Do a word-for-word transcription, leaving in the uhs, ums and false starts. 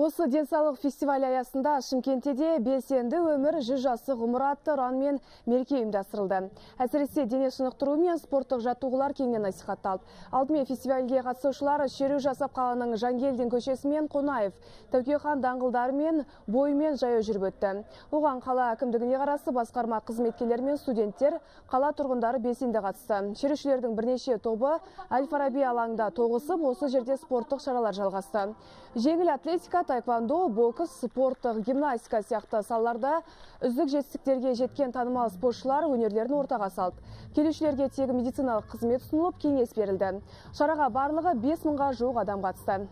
Осы денсаулық фестивалі аясында Шымкентте белсенді өмір жүз жасы ғұмыр атты ұран мен мереке ұйымдастырылды. Әсіресе дене шынықтыру мен спорттық жаттығулар кеңінен насихатталды. Алдымен фестивальге қатысушылар шеру жасап қаланың Жангелдин көшесі мен Қонаев, Тәуке хан даңғылдары мен бойымен жаяу жүріп өтті. Оған қала әкімдігіне қарасы басқарма қызметкерлері мен студенттер, қала тұрғындары белсенді қатысты. Шерушілердің бірнеше тобы Әл-Фараби алаңында тоғысып, осы жерде спорттық шаралар жалғасты. Жеңіл атлетика, таэквондо, бокс, спорттық гимнастика сияқты салаларда үздік жетістіктерге жеткен танымал спортшылар өнерлерін ортаға салды. Келушілерге тегін медициналық қызмет ұсынылып, кеңес берілді. Шараға барлығы бес мыңға жуық адам қатысты.